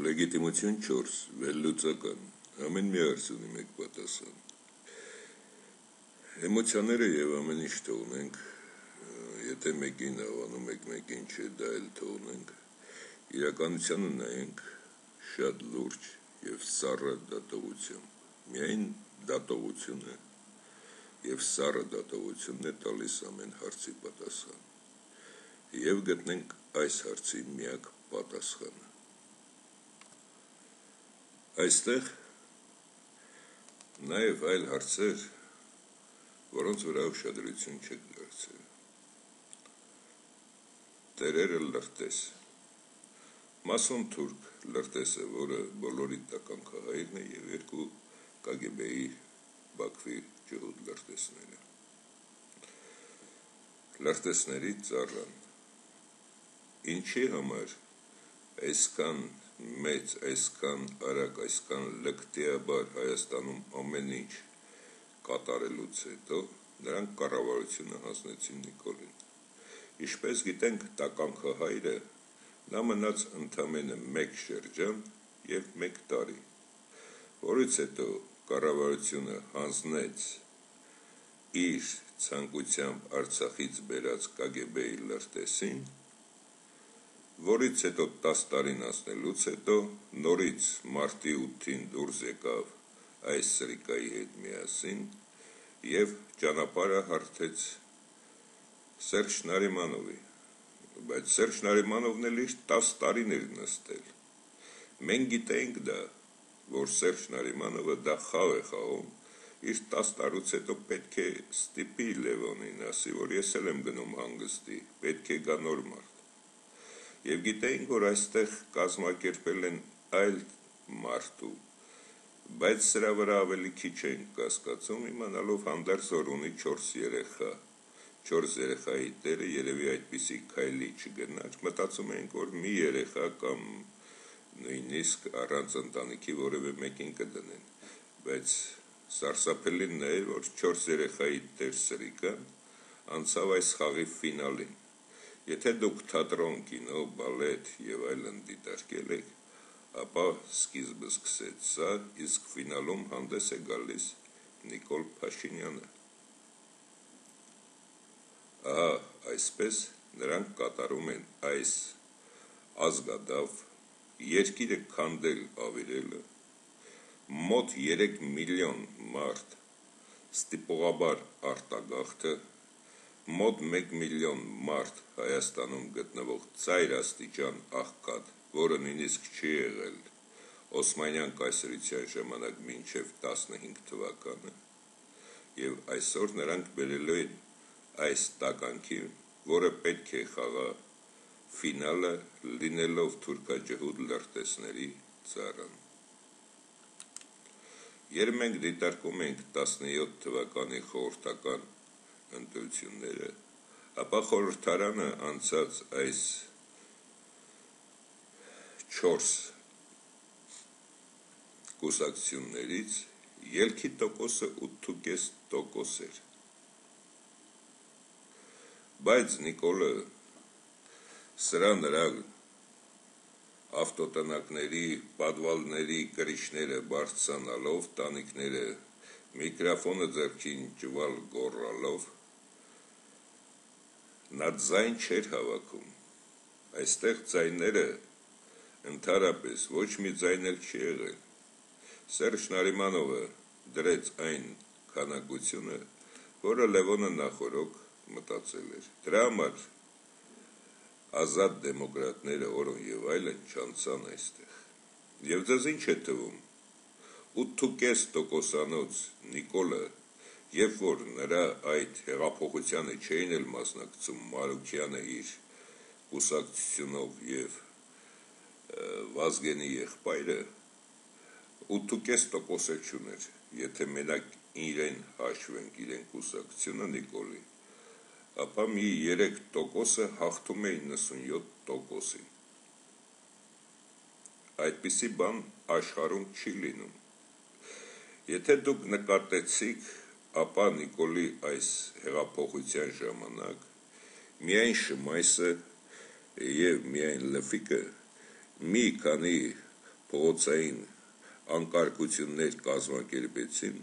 Լեգիտիմություն 4, վերլուծական, ամեն մի հարց ունի մեկ պատասխան։ Էմոցիաները եւ ամեն ինչ թողնենք, եթե մեկին հավանում եք, մեկին չէ, դա էլ թողնենք, իրականությանը նայենք շատ լուրջ եւ սառը դատողությամբ։ Միայն դատողությունը եւ սառը դատողությունն է տալիս ամեն հարցի պատասխան։ Եվ գտնենք այս հարցի միակ պատասխանը։ Այստեղ նաև այլ հարցեր, որոնց վրա ուշադրություն չեք դարձրել։ Տերերը լրտես։ Մասոն թուրք լրտեսը, որը բոլորի տականքահայրն է եւ երկու KGB-ի Բաքվի ջհուդ լրտեսները։ Լրտեսների ծառան։ Ինչի համար այսքան մեծ, այսքան արագ, այսքան լկտիաբար Հայաստանում ամեն ինչ կատարելուց հետո նրանք կառավարությունը հանձնեցին Նիկոլին։ Ինչպես գիտենք, տականքահայրը նա մնաց ընդամենը 1 շրջան եւ 1 տարի, որից հետո կառավարությունը հանձնեց իր ցանկությամբ Արցախից բերած KGB-ի լրտեսին, որից հետո 10 տարին անցնելուց հետո նորից մարտի 8-ին դուրս եկավ այս սրիկայի հետ միասին եւ ճանապարհը հարթեց Սերժ Նարիմանովի, բայց Սերժ Նարիմանովն էլ իր 10 տարին էր նստել։ Մենք գիտենք դա, որ Սերժ Նարիմանովը դա խաղ է խաղում, իր 10 տարուց հետո պետք է ստիպի Լևոնին, ասի, որ ես էլ եմ գնում հանգստի, պետք է գա նոր մարդ։ Եվ գիտեինք, որ այստեղ կազմակերպել են այլ մարդու, բայց սրա վրա ավելի քիչ ենք կասկածում, իմանալով հանդերձ որ ունի 4 երեխա, 4 երեխայի տերը երևի այդպիսի քայլի չգնաց, մտածում էինք, որ մի երեխա կամ նույնիսկ առանց ընտանիքի որևէ մեկին կդնեն, բայց սարսափելին նա է, որ 4 երեխայի տեր սրիկը անցավ այս խաղի ֆինալին։ Եթե դուք թատրոն, կինո, բալետ եւ այլն դիտարկել եք, ապա սկիզբը սկսեց սա, իսկ ֆինալում հանդես է գալիս Նիկոլ Փաշինյանը։ Ահա, այսպես նրանք կատարում են այս ազգադավ երկիրը քանդել ավիրելը, մոտ 3 միլիոն մարդ ստիպողաբար արտագաղթը, մոտ 1 միլիոն մարդ Հայաստանում գտնվող ծայր աստիճան աղքատ, որը նույնիսկ չի եղել Օսմանյան կայսրության ժամանակ մինչև 15 թվականը, եւ այսօր նրանք բերելու են այս տականքի, որը պետք է խաղա ֆինալը, լինելով թուրքաջհուդ լրտեսների ծառան։ Երբ մենք դիտարկում ենք 17 թվականի խորհրդական ընտրությունները, ապա խորհրդարանը անցած այս 4 կուսակցություններից ելքի տոկոսը 8.5% էր։ Բայց Նիկոլը սրա նրա ավտոտնակների, պատվալների կրիչները բարձրանալով, տանիքները միկրոֆոնը ձեռքին ճվալ գոռալով, նա ձայն չէր հավաքում, այստեղ ձայները ընդհանրապես ոչ մի ձայն էլ չի եղել։ Սերժ Նարիմանովը դրեց այն քանակությունը, որը Լևոնը նախորոք մտածել էր։ Դրա համար ազատ դեմոկրատները, օրոն եւ այլն չանցան այստեղ։ Եվ ձեզ ինչ է թվում, 8.5%-անոց Նիկոլը, երբ որ նրա այդ հեղափոխությանը չէին էլ մասնակցում Մարուքյանը իր կուսակցությունով եւ Վազգենի եղբայրը, 8.5% չուներ, եթե մենակ իրեն հաշվենք, իրեն կուսակցությունը Նիկոլի, ապա մի 3%-ը հաղթում է 97%-ին։ Այդպիսի բան աշխարհում չի լինում։ Եթե դուք նկատեցիք, ապա Նիկոլի այս հեղափոխության ժամանակ միայն Շմայսը եւ միայն Լֆիկը մի քանի փողոցային անկարգություններ կազմակերպեցին,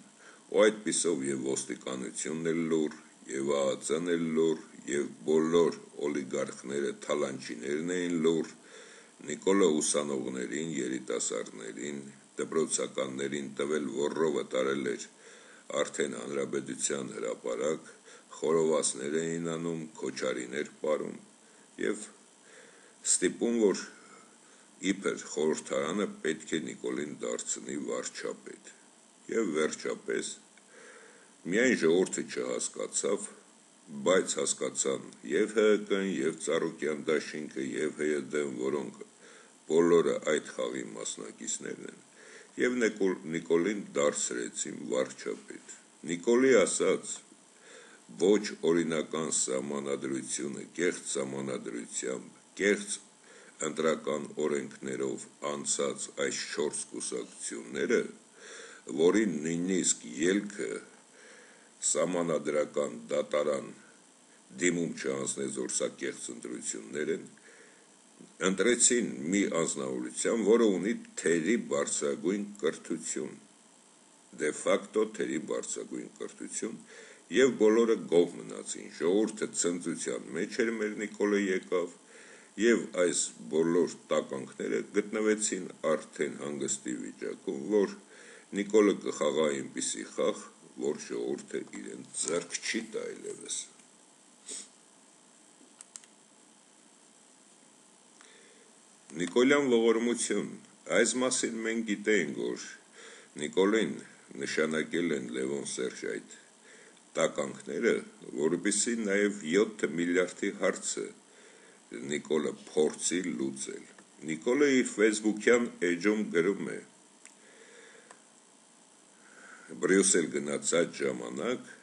ու այդպիսով եւ ոստիկանությունն էլ լուր, եւ ԱԱԾ-ն էլ լուր, եւ բոլոր օլիգարխները, թալանչիներն էին լուր, Նիկոլը ուսանողներին, երիտասարդներին, դպրոցականներին տվել ոռովը տարել էր արդեն հանրապետության հրապարակ, խորովածներ էին անում, քոչարիներ պարում եւ ստիպում, որ իբր խորհրդարանը պետք է Նիկոլին դարձնի վարչապետ։ Եվ վերջապես միայն ժողովուրդը չհասկացավ, բայց հասկացան եւ ՀՀԿ-ն, եւ Ծառուկյան դաշինքը, եւ ՀՅԴ-ն, որոնք բոլորը այդ խաղի մասնակիցներն են, եւ Նիկոլին դարձրեցին վարչապետ։ Նիկոլի ասած ոչ օրինական սահմանադրությունը, կեղծ սահմանադրությամբ, կեղծ ընտրական օրենքներով անցած այս 4 կուսակցությունները, որին նույնիսկ ելքը սահմանադրական դատարան դիմում չանձնեց, որ սա կեղծ ընտրություններ են, ընտրեցին մի անձնավորության, որը ունի թերի բարձրագույն կրթություն, դե ֆակտո թերի բարձրագույն կրթություն, եւ բոլորը գոհ մնացին, ժողովուրդը ցնծության մեջ էր, մեր Նիկոլը եկավ, եւ այս բոլոր տականքները գտնվեցին արդեն հանգստի վիճակում, որ Նիկոլը կխաղա այնպիսի խաղ, որ ժողովուրդը իրեն ձեռք չի տա այլևս։ Նիկոլյան ողորմություն, այս մասին մենք գիտենք, որ Նիկոլին նշանակել են Լևոն Սերժ այդ տականքները, որպեսզի նաև 7 միլիարդի հարցը Նիկոլը փորձի լուծել։ Նիկոլը իր ֆեյսբուքյան էջում գրում է. Բրյուսել գնաց այդ ժամանակ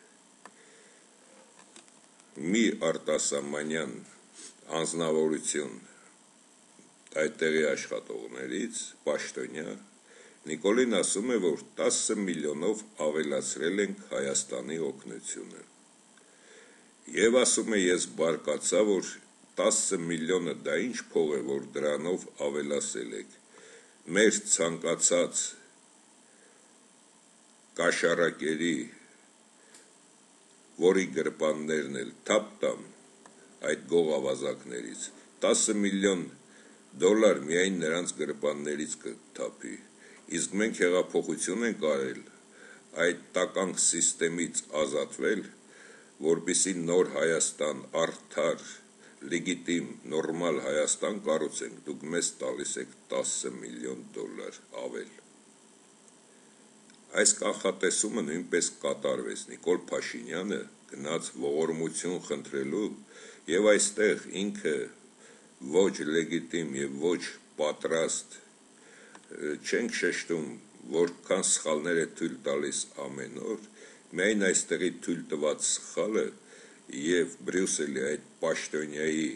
մի արտասահմանյան անձնավորություն այդտեղի աշխատողներից, պաշտոնյա, Նիկոլին ասում է, որ 10 միլիոնով ավելացրել ենք Հայաստանի օգնությունը։ Եվ ասում է, ես բարկացա, որ 10 միլիոնը դա ինչ փող է, որ դրանով ավելացել եք։ Մեր ցանկացած կաշառակերի, որի գրպաններն էլ թափ տամ այդ գողավազակներից, 10 միլիոն դոլար միայն նրանց գրպաններից կթափի, իսկ մենք հեղափոխություն ենք արել, այդ տականք սիստեմից ազատվել, որպեսզի նոր Հայաստան, արդար, լեգիտիմ, նորմալ Հայաստան կառուցենք, դուք մեզ տալիս եք 10 միլիոն դոլար ավել։ Այս կանխատեսումը նույնպես կատարվեց, Նիկոլ Փաշինյանը գնաց ողորմություն խնդրելու եւ այստեղ ինքը ոչ լեգիտիմ եւ ոչ պատրաստ չենք շեշտում, որքան սխալներ է թույլ տալիս ամեն օր, միայն այստեղի թույլ տված սխալը եւ Բրյուսելի այդ պաշտոնյայի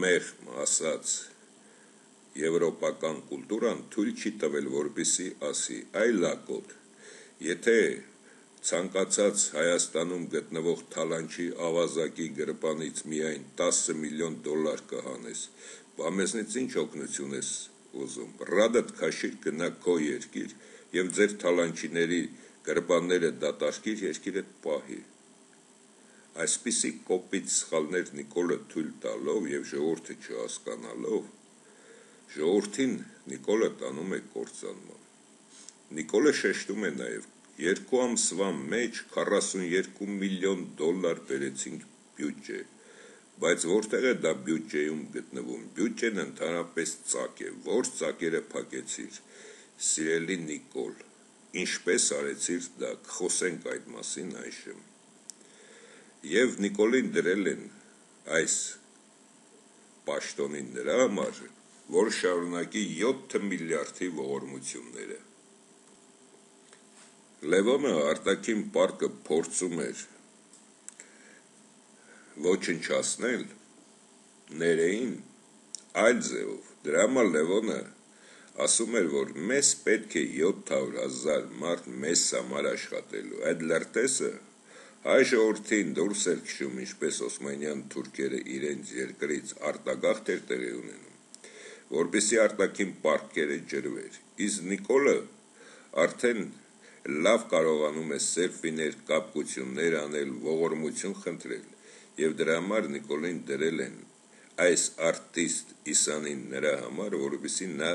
մեղմ ասած եվրոպական կուլտուրան թույլ չի տվել, որպեսզի ասի, այ լակոտ, եթե ցանկացած Հայաստանում գտնվող թալանչի ավազակի գրպանից միայն 10 միլիոն դոլար կհանես, բա մեզնից ինչ օգնություն ես ուզում, ռադդ քաշիր գնա քո երկիր եւ ձեր թալանչիների գրպանները դատարկիր, երկիրդ պահի։ Այսպիսի կոպիտ սխալներ Նիկոլը թույլ տալով եւ ժողովուրդը չհասկանալով, ժողովրդին Նիկոլը տանում է կործանման։ Նիկոլը շեշտում է նաեւ 2 ամսվա մեջ 42 միլիոն դոլար բերեցինք բյուջե, բայց որտեղ է դա բյուջեում գտնվում, բյուջեն ընդհանրապես ծակ է, որ ծակերը փակեցիր, սիրելի Նիկոլ, ինչպես արեցիր դա, խոսենք այդ մասին այժմ։ Եվ Նիկոլին դրել են այս պաշտոնին նրա համար, որ շարունակի 7 միլիարդի ողորմությունները։ Լևոնը արտաքին պարկը փորձում էր ոչնչացնել ներեին այլ ձևով, դրա համար Լևոնը ասում էր, որ մեզ պետք է 700,000 մարդ մեզ համար աշխատելու, այդ լրտեսը հայ ժողովրդին դուրս էր քշում, ինչպես Օսմանյան թուրքերը իրենց երկրից արտագաղթ էր տեղի ունենում, որպեսզի արտաքին պարտքերը ջրվեր, իսկ Նիկոլը արդեն լավ կարողանում է սելֆիներ, կապկություններ անել, ողորմություն խնդրել, եւ դրա համար Նիկոլին դրել են այս արտիստ Իսանին նրա համար, որպեսզի նա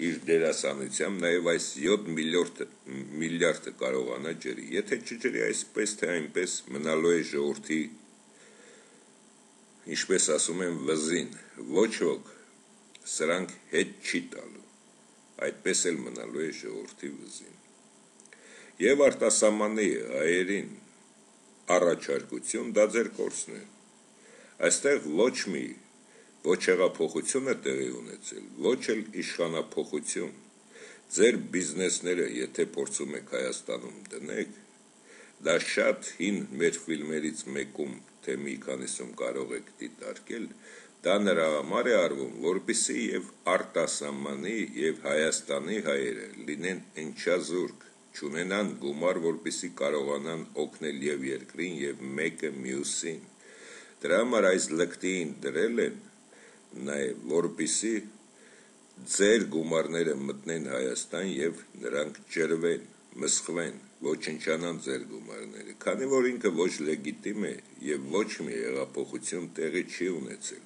իր դերասանությամբ նաև այս 7 միլիարդը կարողանա ջրի, եթե չջրի այսպես թե այնպես մնալու է ժողովրդի, ինչպես ասում են, վզին, ոչ ոք սրանք հետ չի տալու, այդպես էլ մնալու է ժողովրդի վզին։ Եվ արտասահմանի հայերին առաջարկություն դա ձեր կորցն է, այստեղ ոչ հեղափոխություն է տեղի ունեցել, ոչ էլ իշխանափոխություն, ձեր բիզնեսները եթե փորձում եք Հայաստանում դնեք, դա շատ հին մեր ֆիլմերից մեկում թե մի քանիսում կարող եք դիտարկել, դա նրա համար է արվում, որպեսզի եւ արտասահմանի եւ Հայաստանի հայերը լինեն ընչազուրկ, չունենան գումար, որպեսզի կարողանան օգնել եւ երկրին եւ մեկը մյուսին։ Դրա համար այս լկտին դրել են նաեւ, որպեսզի ձեր գումարները մտնեն Հայաստան եւ նրանք ջրվեն, մսխվեն, ոչնչանան ձեր գումարները, քանի որ ինքը ոչ լեգիտիմ է եւ ոչ մի հեղափոխություն տեղի չի ունեցել։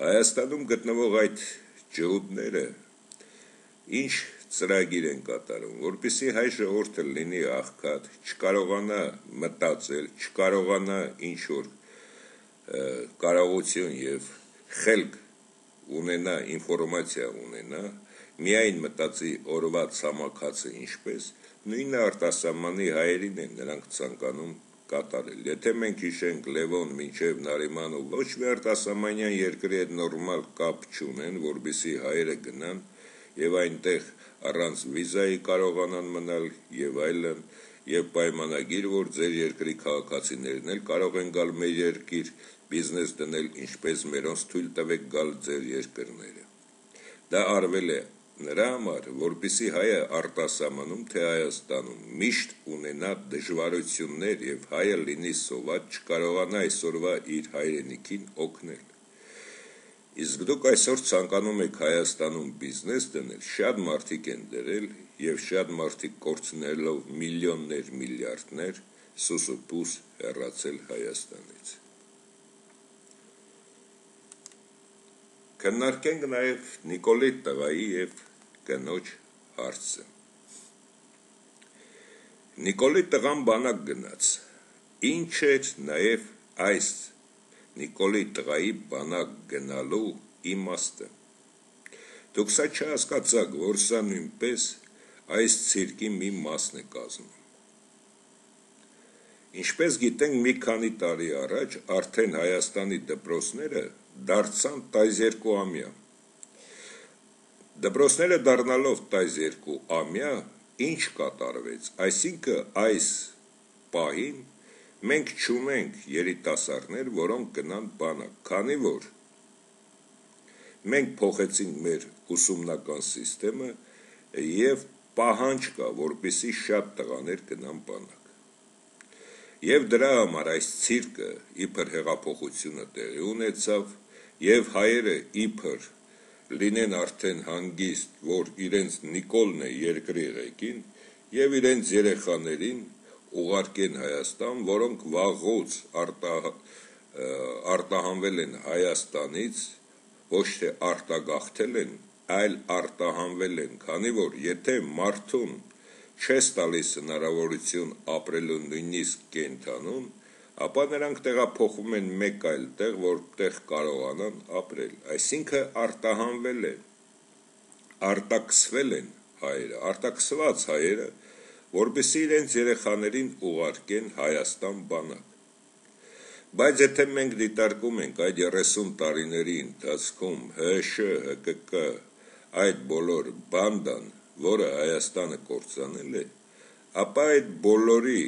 Հայաստանում գտնվող այդ ջհուդները ինչ ծրագիր են կատարում, որպեսզի հայ ժողովուրդը լինի աղքատ, չկարողանա մտածել, չկարողանա ինչ-որ կարողություն եւ խելք ունենա, ինֆորմացիա ունենա, միայն մտածի օրվա ցամաքացը ինչպես, նույնը արտասահմանի հայերին են նրանք ցանկանում կատարել։ Եթե մենք հիշենք Լևոն մինչև Նարիման ու ոչ մի արտասահմանյան երկրի հետ նորմալ կապ չունեն, որպեսզի հայերը գնան եւ այնտեղ առանց վիզայի կարողանան մնալ եւ այլն, եւ պայմանագիր, որ ձեր երկրի քաղաքացիներն էլ կարող են գալ մեր երկիր, բիզնես դնել, ինչպես մերոնց թույլ տվեք գալ ձեր երկրները։ Դա արվել է նրա համար, որպեսզի հայը արտասահմանում թե Հայաստանում միշտ ունենա դժվարություններ եւ հայը լինի սոված, չկարողանա այսօրվա իր հայրենիքին օգնել։ Իսկ դուք այսօր ցանկանում եք Հայաստանում բիզնես դնել, շատ մարդիկ են դրել եւ շատ մարդիկ կորցնելով միլիոններ, միլիարդներ, սուսուփուս հեռացել Հայաստանից։ Քննարկենք նաեւ Նիկոլի տղայի եւ կնոջ հարցը։ Նիկոլի տղան բանակ գնաց։ Ինչ էր նաեւ այս Նիկոլի տղայի բանակ գնալու իմաստը։ Դուք սա չհասկացաք, որ սա նույնպես այս ցիրկի մի մասն է կազմում։ Ինչպես գիտենք, մի քանի տարի առաջ արդեն Հայաստանի դպրոցները դարձան 12-ամյա։ Դպրոցները դառնալով 12-ամյա, ինչ կատարվեց, այսինքն այս պահին մենք չունենք երիտասարդներ, որոնք գնան բանակ, քանի որ մենք փոխեցինք մեր ուսումնական սիստեմը եւ պահանջ կա, որպեսզի շատ տղաներ գնան բանակ։ Եվ դրա համար այս ցիրկը իբր հեղափոխությունը տեղի ունեցավ եւ հայերը իբր լինեն արդեն հանգիստ, որ իրենց Նիկոլն է երկրի ղեկին եւ իրենց երեխաներին ուղարկեն Հայաստան, որոնք վաղուց արտահանվել են Հայաստանից, ոչ թե արտագաղթել են, այլ արտահանվել են, քանի որ եթե մարդուն չես տալիս հնարավորություն ապրելու նույնիսկ կենթանում, ապա նրանք տեղափոխվում են մեկ այլ տեղ, որտեղ կարողանան ապրել, այսինքն արտահանվել են, արտաքսվել են հայերը, արտաքսված հայերը, որպեսզի իրենց երեխաներին ուղարկեն Հայաստան բանակ։ Բայց եթե մենք դիտարկում ենք այդ 30 տարիների ընթացքում ՀՇ, ՀԿԿ, այդ բոլոր բանդան, որը Հայաստանը կործանել է, ապա այդ բոլորի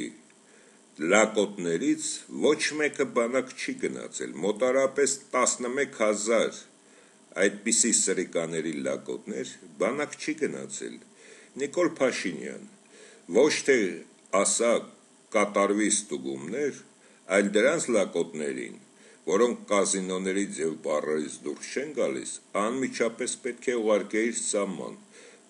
լակոտներից ոչ մեկը բանակ չի գնացել, մոտարապես 11,000 այդպիսի սրիկաների լակոտներ բանակ չի գնացել։ Նիկոլ Փաշինյան ոչ թե ասա կատարվի ստուգումներ, այլ դրանց լակոտներին որոնք կազինոներից եւ բարերից դուրս չեն գալիս, անմիջապես պետք է ուղարկեիր սահման,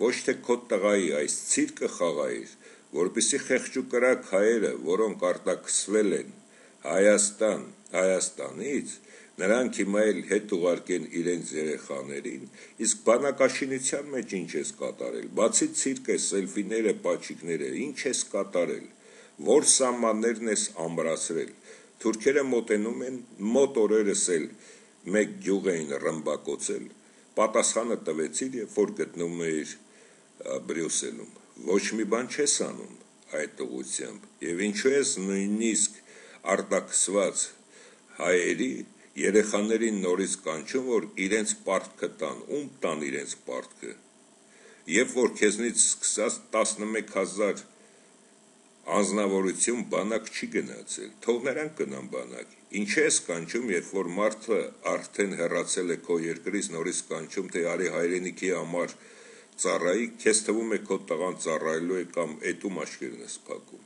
ոչ թե քո տղայի այս ցիրկը խաղայիր, որպեսզի խեղճուկրակ հայերը, որոնք արտաքսվել են Հայաստանից, նրանք հիմա էլ հետ ուղարկեն իրենց երեխաներին, իսկ բանակաշինության մեջ ինչ ես կատարել, բացի ցիրկը, սելֆիները, պաչիկները, ինչ ես կատարել, որ սահմաններն ես ամրացրել, թուրքերը մոտենում են, մոտ օրերս էլ մեկ գյուղ էին ռմբակոծել, պատասխանը տվեցիր, երբ որ գտնվում էիր Բրյուսելում, ոչ մի բան չես անում այդ ուղղությամբ, եւ ինչու ես նույնիսկ արտաքսված հայերի երեխաներին նորից կանչում, որ իրենց պարտքը տան, ում տան իրենց պարտքը, երբ որ քեզնից սկսած 11,000 անձնավորություն բանակ չի գնացել, թող նրանք գնան բանակ, ինչ ես կանչում, երբ որ մարդը արդեն հեռացել է քո երկրից, նորից կանչում, թե արի հայրենիքի համար ծառայի, քեզ թվում է քո տղան ծառայելու է կամ էտում աշկերն ես փակում։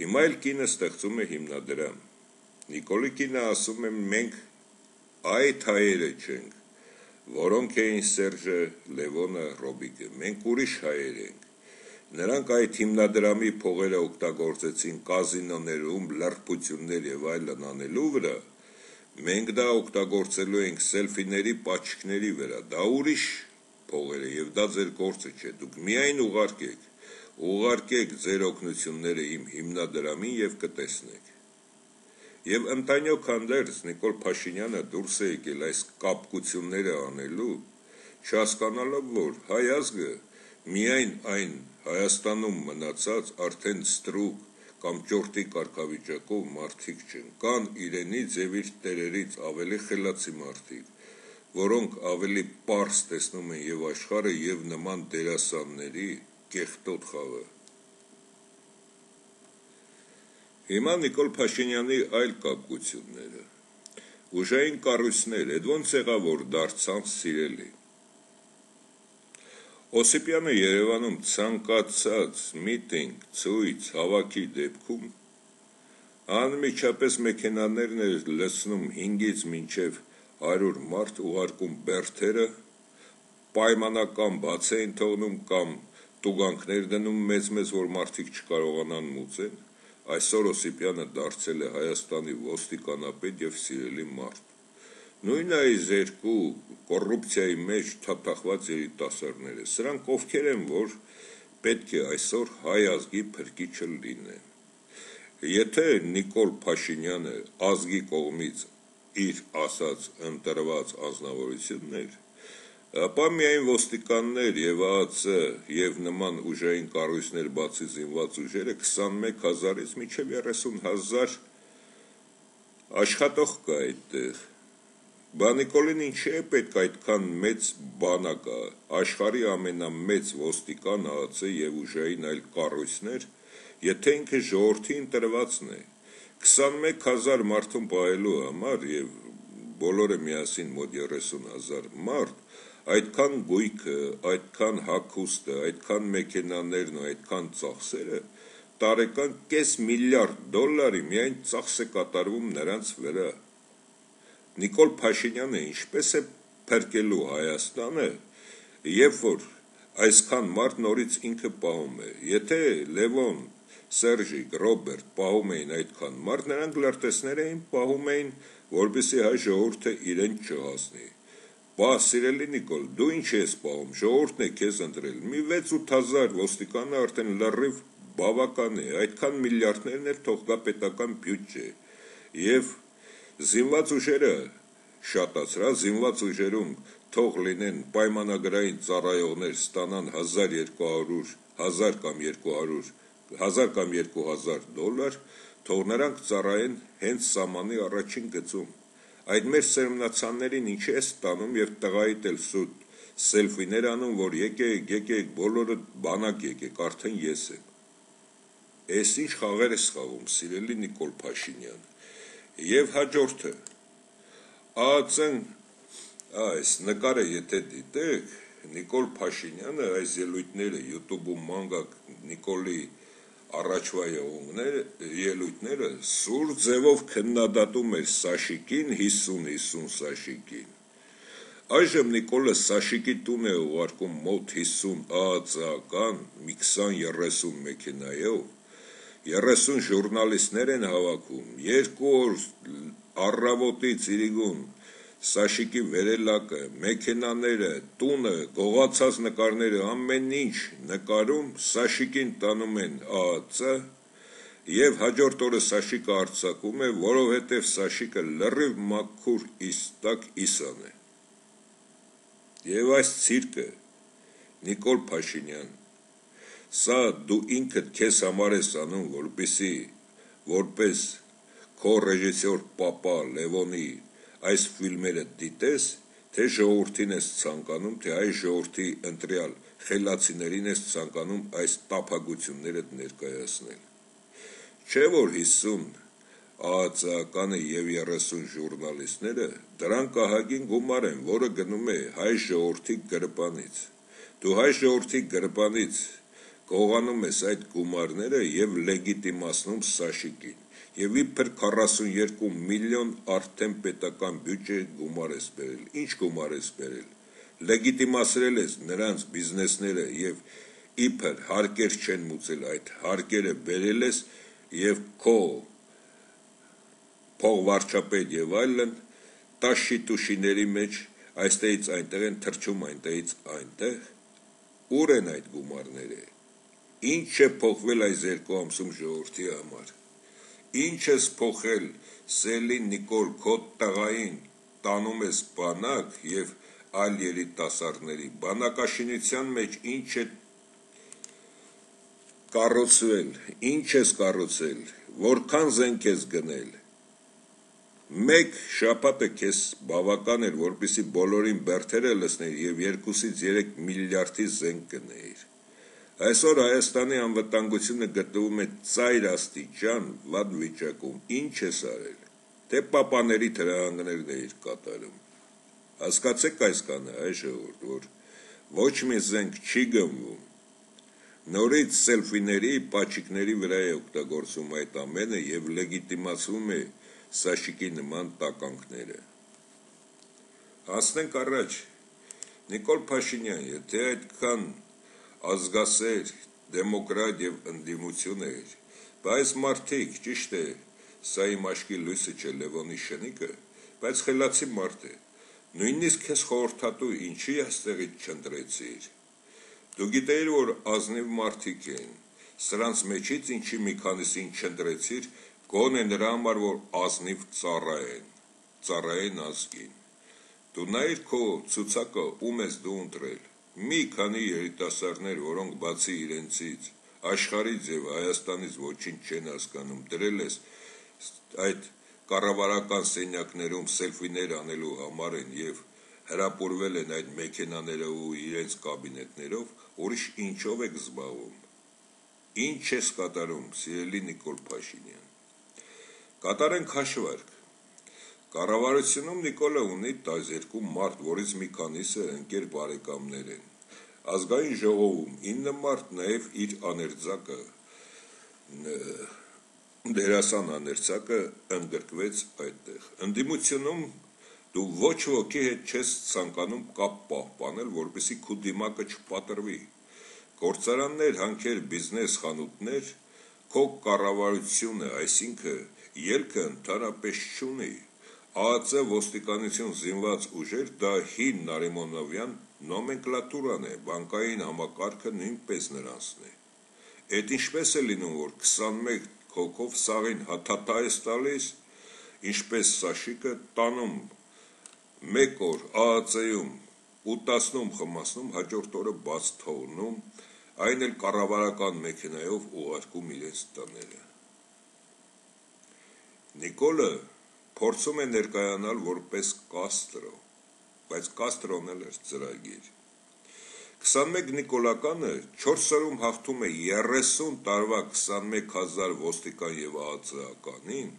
Հիմա էլ կինը ստեղծում է հիմնադրամ։ Նիկոլի կինը ասում է մենք այդ հայերը չենք, որոնք էին Սերժը, Լևոնը, Ռոբիկը, մենք ուրիշ հայեր ենք։ Նրանք այդ հիմնադրամի փողերը օգտագործեցին կազինոներում լրբություններ եւ այլն անելու վրա, մենք դա օգտագործելու ենք սելֆիների, պաչիկների վրա, դա ուրիշ փողեր է եւ դա ձեր գործը չէ, դուք միայն ուղարկեք ձեր օգնությունները իմ հիմնադրամին եւ կտեսնեք։ Եվ ընտանյոք հանդերձ Նիկոլ Փաշինյանը դուրս է եկել այս կապկությունները անելու, չհասկանալով, որ հայ ազգը միայն այն Հայաստանում մնացած արդեն ստրուկ կամ ճորտի կարգավիճակով մարդիկ չեն, կան իրենից եւ իր տերերից ավելի խելացի մարդիկ, որոնք ավելի պարզ տեսնում են եւ աշխարհը եւ նման դերասանների կեղտոտ խաղը։ Հիմա Նիկոլ Փաշինյանի այլ կապկությունները, ուժային կառույցներ, այդ ոնց եղավ, որ դարձան սիրելի։ Օսիպյանը Երևանում ցանկացած միտինգ, ցույց, հավաքի դեպքում անմիջապես մեքենաներն էր լցնում 5-ից մինչև 100 մարդ, ուղարկում բերդերը, պայմանական բաց էին թողնում կամ տուգանքներ դնում մեծ, որ մարդիկ չկարողանան մուծեն, այսօր Օսիպյանը դարձել է Հայաստանի ոստիկանապետ եւ սիրելի մարդ։ Նույն այս երկու կոռուպցիայի մեջ թափախված երիտասարդները, սրանք ովքեր են, որ պետք է այսօր հայ ազգի փրկիչը լինեն։ Եթե Նիկոլ Փաշինյանը ազգի կողմից իր ասած ընտրված անձնավորություններ, ապա միայն ոստիկաններ եւ ԱԱՑ եւ նման ուժային կառույցներ բացի զինված ուժերը 21,000-ից մինչեւ 30,000 աշխատող կա այդտեղ։ Նիկոլին ինչի է պետք այդքան մեծ բանակը, աշխարհի ամենամեծ ոստիկան ԱԱՑ եւ ուժային այլ կառույցներ, եթե ինքը ժողովրդի ընտրվածն է, 21,000 մարդուն պահելու համար եւ բոլորը միասին մոտ 30,000 մարդ, այդքան գույքը, այդքան հագուստը, այդքան մեքենաներն ու այդքան ծախսերը, տարեկան $500 միլիարդ միայն ծախս է կատարվում նրանց վրա։ Նիկոլ Փաշինյանը ինչպես է փրկելու Հայաստանը, երբ որ այսքան մարդ նորից ինքը պահում է։ Եթե Լևոն, Սերժիկ, Ռոբերտ պահում էին այդքան մարդ, նրանք լրտեսներ էին պահում էին, որպեսզի հայ ժողովուրդը իրեն չհասնի։ Բա սիրելի Նիկոլ, դու ինչ ես պահում, ժողովուրդն է քեզ ընտրել։ Մի 6-8,000 ոստիկանը արդեն լրիվ բավական է, այդքան միլիարդներն էլ թող գա պետական բյուջե։ Եվ զինված ուժերը շատացրա, զինված ուժերում թող լինեն պայմանագրային ծառայողներ, ստանան $1,200, 1,000 կամ 200, 1,000 կամ 2,000 $, թող նրանք ծառայեն հենց սահմանի առաջին գծում։ Այդ մեր սերմնացաններին ինչ է ստանում եւ տղայիդ էլ սուտ սելֆիներ անում, որ եկեք, բոլորը բանակ եկեք, արդեն ես եմ։ Էս ինչ խաղեր ես խաղում, սիրելի Նիկոլ Փաշինյան։ Եվ հաջորդը ԱԱՑ-ն, այս նկարը եթե դիտեք, Նիկոլ Փաշինյանը այս ելույթները YouTube-ում ման գաք Նիկոլի առաջվա ելույթները սուր ձևով քննադատում էր Սաշիկին 50-50 Սաշիկին։ Այժմ Նիկոլը Սաշիկի տուն է ուղարկում մոտ 50 ԱԱԾ-ական մի 20-30 մեքենայով, 30 ժուրնալիստներ են հավաքում, 2 օր առավոտից իրիգուն Սաշիկի վերելակը, մեքենաները, տունը, գողացած նկարները, ամեն ինչ նկարում Սաշիկին տանում են ԱԱԾ և հաջորդ օրը Սաշիկը արձակում է, որովհետև Սաշիկը լրիվ մաքուր իստակ իսան է։ Եվ այս ցիրկը, Նիկոլ Փաշինյան, սա դու ինքդ քեզ համար ես անում, որպեսզի որպես քո ռեժիսոր պապա Լևոնի այս ֆիլմերը դիտես, թե ժողովրդին ես ցանկանում, թե այս ժողովրդի ընտրյալ խելացիներին ես ցանկանում այս տափակությունները ներկայացնել։ Չէ որ 50 ԱԱԾ-ականը և 30 ժուրնալիստները դրանք ահագին գումար են, որը գնում է հայ ժողովրդի գրպանից։ Դու հայ ժողովրդի գրպանից գողանում ես այդ գումարները և լեգիտիմացնում Սաշիկին, և իբր 42 միլիոն արդեն պետական բյուջե գումար ես բերել։ Ինչ գումար ես բերել։ Լեգիտիմացրել ես նրանց բիզնեսները և իբր հարկեր չեն մուծել, այդ հարկերը բերել ես և քո փողվարչապետ և այլն տաշի-տուշիների մեջ այստեղից այնտեղ են թռչում, այնտեղից այնտեղ։ Ուր են այդ գումարները։ Ինչ է փոխվել այս 2 ամսում ժողովրդի համար։ Ինչ ես փոխել Սելին Նիկոլ, քո տղային տանում ես բանակ և այլ երիտասարդների, բանակաշինության մեջ ինչ է կառուցվել, ինչ ես կառուցել, որքան զենք ես գնել։ Մեկ շաբաթը քեզ բավական էր, որպեսզի բոլորին բերդերը լցնել և 2-ից 3 միլիարդի զենք գնեիր։ Այսօր Հայաստանի անվտանգությունը գտնվում է ծայր աստիճան վատ վիճակում, ինչ ես արել, թե պապաների թրահանգներն էիր կատարում։ Հասկացեք այս կանը, այ ժողովուրդ, որ ոչ մի զենք չի գնվում, նորից սելֆիների, պաչիկների վրա է օգտագործում այդ ամենը և լեգիտիմացվում է Սաշիկի նման տականքները։ Հասնենք առաջ, Նիկոլ Փաշինյան, եթե այդքան ազգասեր, դեմոկրատ և ընդդիմություն էր, բայց մարդիկ, ճիշտ է, սա իմ աչքի լույսը չէ Լևոնի շնիկը, բայց խելացի մարդ է, նույնիսկ քեզ խորհրդատու ինչի այստեղից չընտրեցիր։ Դու գիտեիր, որ ազնիվ մարդիկ են, սրանց մեջից ինչի մի քանիսին չընտրեցիր, գոնե նրա համար, որ ազնիվ ծառայեն ազգին։ Դու նայիր քո ցուցակը, ում ես դու ընտրել։ Մի քանի երիտասարդներ, որոնք բացի իրենցից աշխարհից և Հայաստանից ոչինչ չեն հասկանում, դրել ես այդ կառավարական սենյակներում սելֆիներ անելու համար են և հրապուրվել են այդ մեքենաներով ու իրենց կաբինետներով, ուրիշ ինչով եք զբաղվում։ Ինչ ես կատարում, սիրելի Նիկոլ Փաշինյան։ Կատարենք հաշվարկ։ Կառավարությունում Նիկոլը ունի 12 մարդ, որից մի քանիսը ընկեր բարեկամներ են։ Ազգային ժողովում 9 մարդ, նաև իր աներձակը, դերասան աներձակը ընդգրկվեց այդտեղ։ Ընդդիմությունում դու ոչ ոքի հետ չես ցանկանում կապ պահպանել, որպեսզի քո դիմակը չպատրվի։ Գործարաններ, հանքեր, բիզնես, խանութներ, քո կառավարությունը, այսինքն ելքը ընդհանրապես չունի։ ԱԱԾ ոստիկանություն զինված ուժեր, դա հին Նարիմոնովյան նոմենկլատուրան է, բանկային համակարգը նույնպես նրանցն է։ Էդ ինչպես է լինում, որ 21 հոգով սաղին հաթաթա ես տալիս, ինչպես Սաշիկը տանում մեկ օր ԱԱԾ-ում ուտացնում, խմացնում, հաջորդ օրը բաց թողնում, այն էլ կառավարական մեքենայով ուղարկում իրենց տները։ Նիկոլը փորձում է ներկայանալ որպես Կաստրո, բայց Կաստրոն էլ էր ծրագիր։ 21 Նիկոլականը 4 օրում հաղթում է 30 տարվա 21 000 ոստիկան և ԱԱԾ-ականին,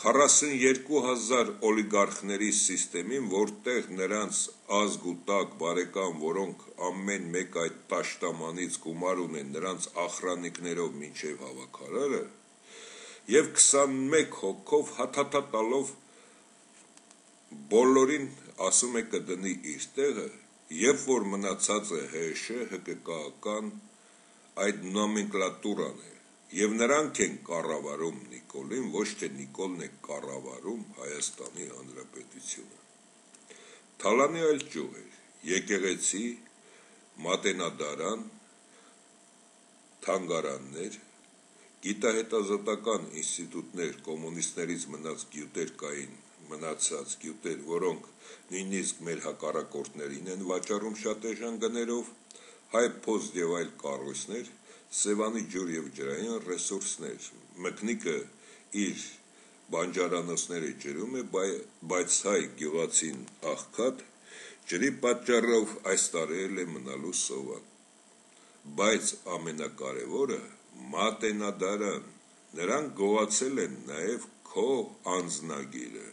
42,000 օլիգարխների սիստեմին, որտեղ նրանց ազգ ու տակ բարեկամ, որոնք ամեն մեկ այդ տաշտամանից գումար ունեն նրանց ախրանիկներով մինչև հավաքարարը, և 21 հոգով հաթաթա տալով բոլորին ասում է կդնի իր տեղը, երբ որ մնացած է ՀՇ, ՀԿԿ-ական այդ նոմենկլատուրան է, և նրանք են կառավարում Նիկոլին, ոչ թե Նիկոլն է կառավարում Հայաստանի Հանրապետությունը։ Թալանի այլ ճյուղ էր, եկեղեցի, մատենադարան, թանգարաններ, գիտահետազոտական ինստիտուտներ, կոմունիստներից մնաց գյուտեր կային, մնացած գյուտեր, որոնք նույնիսկ մեր հակառակորդներին են վաճառում շատ էժան գներով, հայ փոստ և այլ կառույցներ, Սևանի ջուր և ջրային ռեսուրսներ, մկնիկը իր բանջարանոցները ջրում է, բայց հայ գյուղացին աղքատ, ջրի պատճառով այս տարել է մնալու սովան, բայց ամենակարևորը մատենադարան, նրանք գողացել են նաև քո անձնագիրը,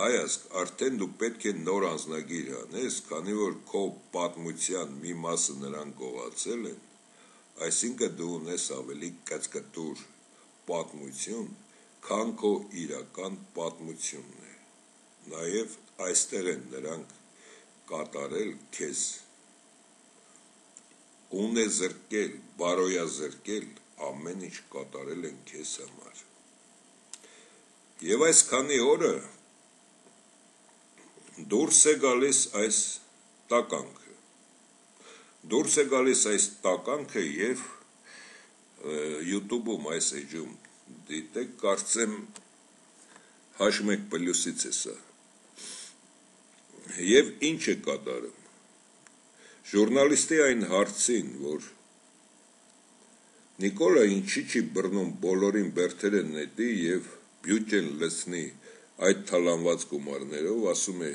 հայազգ, արդեն դու պետք է նոր անձնագիր անես, քանի որ քո պատմության մի մասը նրանք գողացել են, այսինքն դու ունես ավելի կծկտուր պատմություն, քան քո իրական պատմությունն է, նաև այստեղ են նրանք կատարել քեզ, ունեզրկել, բարոյազրկել, ամեն ինչ կատարել են քեզ համար, և այս քանի օրը դուրս է գալիս այս տականքը և YouTube-ում այս էջում դիտեք, կարծեմ H1+-ից է սա, և ինչ է կատարում, ժուրնալիստի այն հարցին, որ Նիկոլը ինչի չի բռնում բոլորին բերդերը նետի և բյուջեն լցնի այդ թալանված գումարներով, ասում է,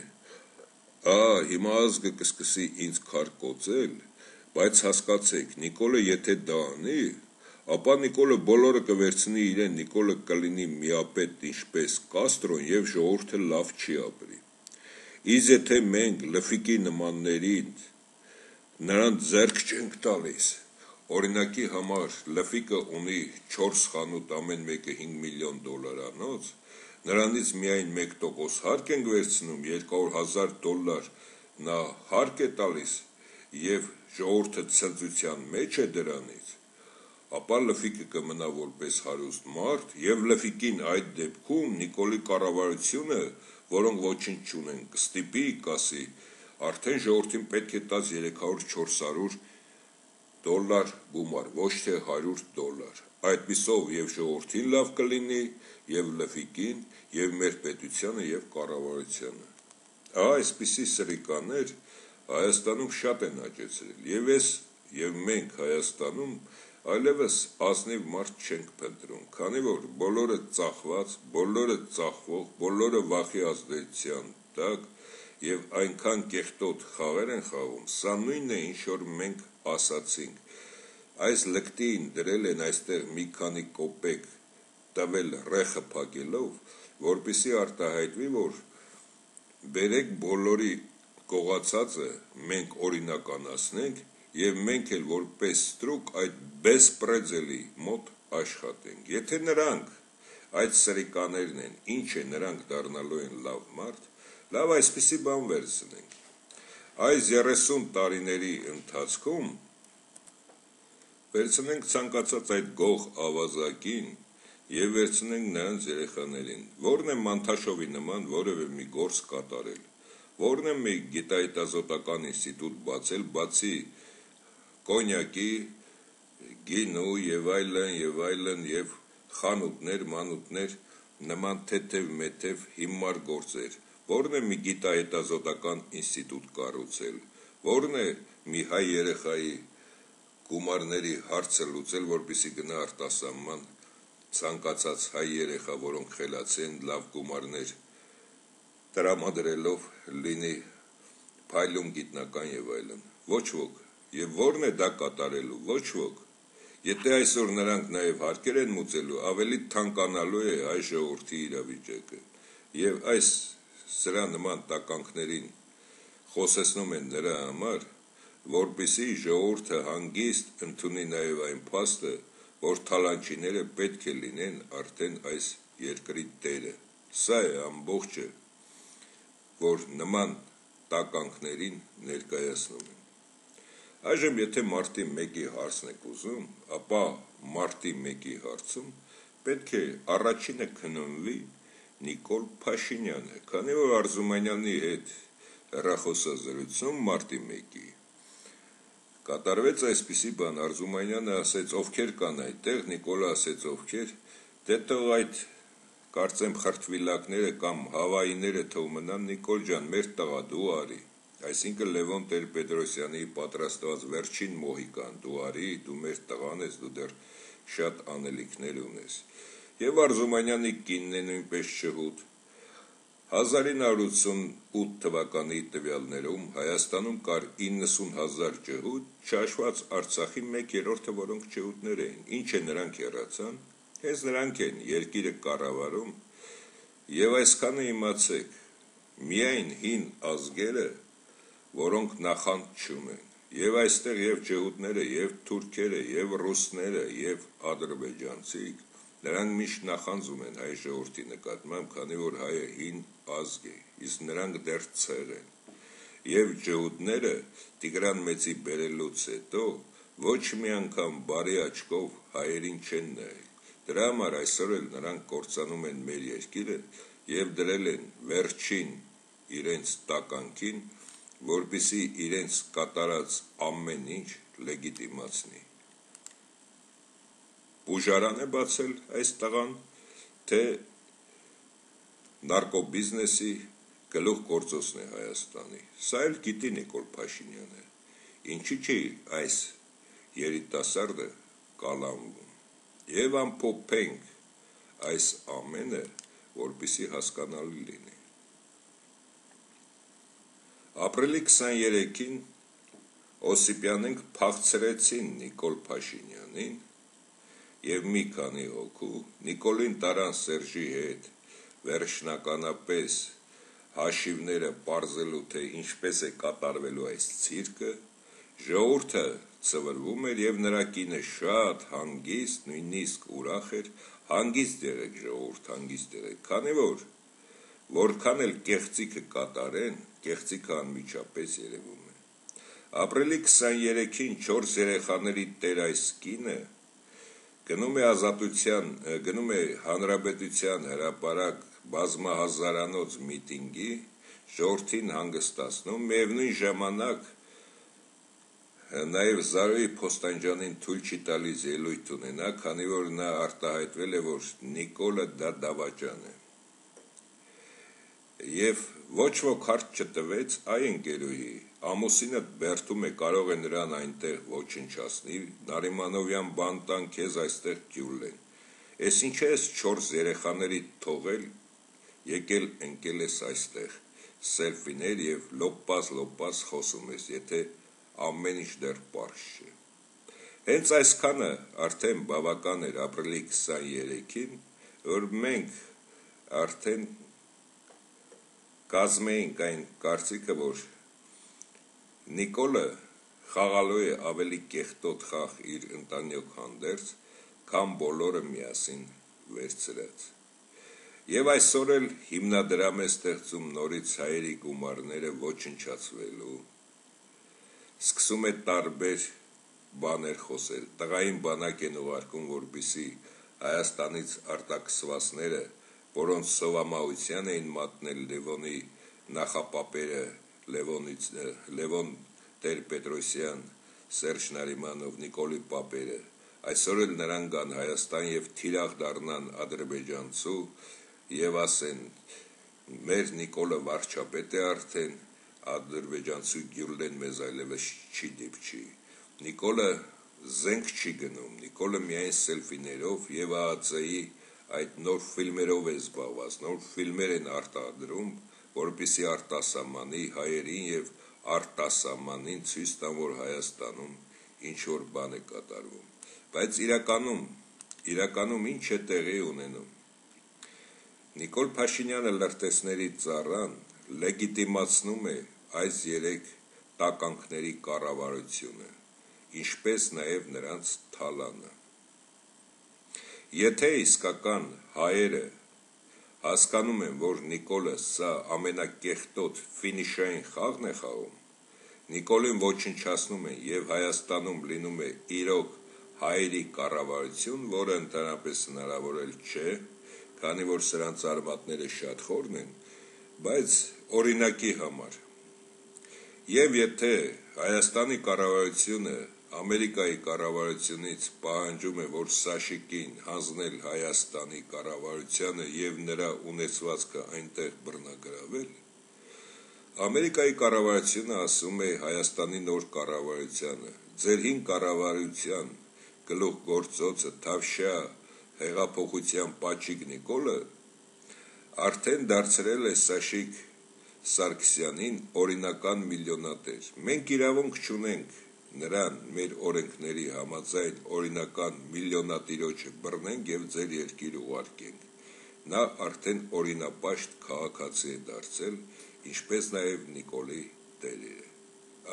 հիմա ազգը կսկսի ինձ քար կոծել, բայց հասկացեք, Նիկոլը եթե դա անի, ապա Նիկոլը բոլորը կվերցնի իրեն, Նիկոլը կլինի միապետ ինչպես Կաստրոն և ժողովուրդը լավ չի ապրի, իսկ եթե մենք լֆիկի նմաններին նրան ձեռք չենք տալիս, օրինակի համար լֆիկը ունի 4 խանութ, ամեն մեկը $5 միլիոն անոց, նրանից միայն 1% հարկ ենք վերցնում, $200,000 նա հարկ է տալիս և ժողովուրդը ցնծության մեջ է դրանից, ապա լֆիկը կմնա որպես հարուստ մարդ և լֆիկին այդ դեպքում Նիկոլի կառավարությունը, որոնք ոչինչ չունեն, կստիպի, կասի, արդեն ժողովրդին պետք է տաս $300-400 գումար, ոչ թե $100, այդպիսով և ժողովրդին լավ կլինի, և լֆիկին, և մեր պետությանը և կառավարությանը, այսպիսի սրիկաներ Հայաստանում շատ են աճեցրել, և ես և մենք Հայաստանում այլևս ազնիվ մարդ չենք փնտրում, քանի որ բոլորը ծախված, բոլորը ծախվող, բոլորը վախի ազդեցության տակ և այնքան կեղտոտ խաղեր են խաղում, սա նույնն է, ինչ որ մենք ասացինք, այս լկտին դրել են այստեղ մի քանի կոպեկ տվել ռեխը փակելով, որպեսզի արտահայտվի, որ բերեք բոլորի գողացածը մենք օրինականացնենք և մենք էլ որպես ստրուկ այդ բեսպրեձելի մոտ աշխատենք, եթե նրանք այդ սրիկաներն են, ինչ է նրանք դառնալու են լավ մարդ, լավ այսպիսի բան վերցնենք, այս 30 տարիների ընթացքում վերցնենք ցանկացած այդ գող ավազակին և վերցնենք նրանց երեխաներին, որն է Մանթաշովի նման որևէ մի գործ կատարել, որն է մի գիտահետազոտական ինստիտուտ բացել, բացի կոնյակի, գինու և այլն և խանութներ, մանութներ, նման թեթև հիմար գործեր, որն է մի գիտահետազոտական ինստիտուտ կառուցել, որն է մի հայ երեխայի գումարների հարցը լուծել, որպեսզի գնա արտասահման ցանկացած հայ երեխա, որոնք խելացի են, լավ գումարներ տրամադրելով լինի փայլուն գիտնական և այլն, ոչ ոք, և որն է դա կատարելու, ոչ ոք, Եթե այսօր նրանք նաև հարկեր են մուծելու, ավելի թանկանալու է հայ ժողովրդի իրավիճակը, եւ այս սրա նման տականքներին խոսեցնում են նրա համար, որպեսզի ժողովուրդը հանգիստ ընդունի նաև այն փաստը, որ թալանչիները պետք է լինեն արդեն այս երկրի տերը։ Սա է ամբողջը, որ նման տականքներին ներկայացնում են։ Այժմ եթե մարտի 1-ի հարցն եք ուզում, ապա մարտի 1-ի հարցում պետք է առաջինը քննվի Նիկոլ Փաշինյանը, քանի որ Արզումանյանի հետ հեռախոսազրույցում մարտի 1-ի կատարվեց այսպիսի բան, Արզումանյանը ասեց ովքեր կան այդտեղ, Նիկոլը ասեց ովքեր, դե թող այդ կարծեմ խրտվիլակները կամ հավայիները թող մնան, Նիկոլ ջան, մեր տղա դու արի, այսինքն Լևոն Տեր-Պետրոսյանի պատրաստված վերջին մոհիկան, դու արի, դու մեր տղան ես, դու դեռ շատ անելիքներ ունես։ Եվ Արզումանյանի կինն է նույնպես շհուտ։ 1988 թվականի տվյալներում Հայաստանում կար 90,000 ջհուդ, չհաշված Արցախի 1/3-ը, որոնք ջհուդներ էին, ինչ է նրանք հեռացան, հենց նրանք են երկիրը կառավարում, եւ այսքանը իմացեք, միայն հին ազգերը, որոնք նախանդ չունեն, եւ այստեղ եւ ջհուդները, եւ թուրքերը, եւ ռուսները, եւ ադրբեջանցիք, նրանք միշտ նախանձում են հայ ժողովրդի նկատմամբ, քանի որ հայը հին ազգ է, իսկ նրանք դեռ ցեղ են։ Եվ ջհուդները Տիգրան Մեծի բերելուց հետո ոչ մի անգամ բարի աչքով հայերին չեն նայել։ Դրա համար այսօր էլ նրանք կործանում են մեր երկիրը եւ դրել են վերջին իրենց տականքին, որպեսզի իրենց կատարած ամեն ինչ լեգիտիմացնի։ Բուժարան է բացել այս տղան, թե նարկոբիզնեսի գլուխ գործոցն է Հայաստանի։ Սա էլ գիտի Նիկոլ Փաշինյանը։ Ինչի՞ չի այս երիտասարդը կալանվում։ Եվ ամփոփենք այս ամենը, որպեսզի հասկանալի լինի։ Ապրիլի 23-ին Օսիպյանենք փախցրեցին Նիկոլ Փաշինյանին եւ մի քանի հոգու Նիկոլին տարան Սերժի հետ վերջնականապես հաշիվները պարզելու, թե ինչպես է կատարվելու այս ցիրկը, ժողովուրդը ծվրվում էր եւ նրա կինը շատ հանգիստ, նույնիսկ ուրախ էր, հանգիստ եղեք ժողովուրդ, հանգիստ եղեք, քանի որ որքան էլ կեղծիքը կատարեն, կեղծիքը անմիջապես երևում է։ Ապրիլի 23-ին 4 երեխաների տեր այս կինը գնում է Հանրապետության հրապարակ բազմահազարանոց միտինգի, ժողովրդին հանգստացնում, միևնույն ժամանակ նաև Զարուհի Փոստանջանին թույլ չի տալիս ելույթ ունենա, քանի որ նա արտահայտվել է, որ Նիկոլը դա դավաճան է։ Եվ ոչ ոք հարց չտվեց այ ընկերուհի, ամուսինդ բերդում է, կարող է նրան այնտեղ ոչնչացնի, Նարիմանովյան բան տան, քեզ այստեղ գյուլեն։ Էս ինչ ես 4 երեխաների թողել, եկել ընկել ես այստեղ, սելֆիներ եւ լոպազ խոսում ես, եթե ամեն ինչ դեռ պարզ չէ։ Հենց այսքանը արդեն բավական էր ապրիլի 23-ին, որ մենք արդեն կազմեինք այն կարծիքը, որ Նիկոլը խաղալու է ավելի կեղտոտ խաղ իր ընտանիք հանդերձ, քան բոլորը միասին վերցրած։ Եվ այսօր էլ հիմնադրամ է ստեղծում նորից հայերի գումարները ոչնչացվելու։ Սկսում է տարբեր բաներ խոսել, տղային բանակ են ուղարկում, որպեսզի Հայաստանից արտաքսվածները, որոնց սովամահության էին մատնել Լևոնի նախապապերը, Լևոն Տեր-Պետրոսյան, Սերժ Նարիմանով, Նիկոլի պապերը, այսօր էլ նրանք գան Հայաստան եւ թիրախ դառնան ադրբեջանցու եւ ասեն մեր Նիկոլը վարչապետ է արդեն, ադրբեջանցու գյուլեն մեզ այլևս չի դիպչի։ Նիկոլը զենք չի գնում, Նիկոլը միայն սելֆիներով եւ ԱԱՑ-ի այդ նոր ֆիլմերով է զբաղված, նոր ֆիլմեր են արտադրում, որպեսզի արտասահմանի հայերին եւ արտասահմանին ցույց տան, որ Հայաստանում ինչ որ բան է կատարվում։ Բայց իրականում ինչ է տեղի ունենում։ Նիկոլ Փաշինյանը լրտեսների ծառան լեգիտիմացնում է այս երեք տականքների կառավարությունը, ինչպես նաև նրանց թալանը։ Եթե իսկական հայերը հասկանում են, որ Նիկոլը սա ամենակեղտոտ ֆինիշային խաղն է խաղում, Նիկոլին ոչնչացնում են և Հայաստանում լինում է իրոք հայերի կառավարություն, որը ընդհանրապես հնարավոր էլ չէ, քանի որ սրանց արմատները շատ խորն են, բայց օրինակի համար։ Եվ եթե Հայաստանի կառավարությունը Ամերիկայի կառավարությունից պահանջում է, որ Սաշիկին հանձնել Հայաստանի կառավարությանը և նրա ունեցվածքը այնտեղ բռնագրավել, Ամերիկայի կառավարությունը ասում է Հայաստանի նոր կառավարությանը, ձեր հին կառավարության գլուխգործոցը Թավշյա հեղափոխության Պաչիկ Նիկոլը արդեն դարձրել է Սաշիկ Սարգսյանին օրինական միլիոնատեր։ Մենք իրավունք չունենք նրան մեր օրենքների համաձայն օրինական միլիոնատիրոջը բռնենք և ձեր երկիր ուղարկենք։ Նա արդեն օրինապաշտ քաղաքացի է դարձել, ինչպես նաև Նիկոլի տերերը։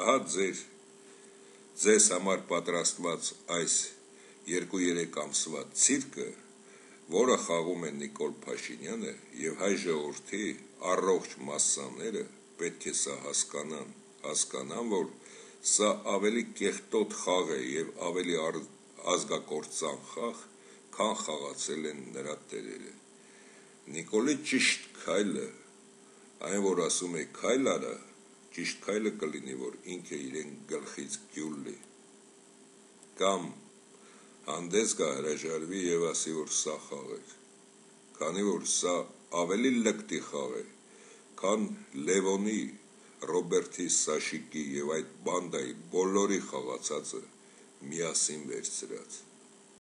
Ահա ձեզ համար պատրաստված այս 2-3 ամսվա ցիրկը, որը խաղում է Նիկոլ Փաշինյանը և հայ ժողովրդի առողջ մասսաները պետք է սա հասկանան, որ սա ավելի կեղտոտ խաղ է և ավելի ազգակործան խաղ, քան խաղացել են նրա տերերը։ Նիկոլի ճիշտ քայլը, այն որ ասում է քայլ արա, ճիշտ քայլը կլինի, որ ինքը իրեն գլխից գյուլ լի, կամ հանդես գա հրաժարվի և ասի, որ սա խաղ էր, քանի որ սա ավելի լկտի խաղ է, քան Լևոնի, Ռոբերտի, Սաշիկի և այդ բանդայի բոլորի խաղացածը միասին վերցրած։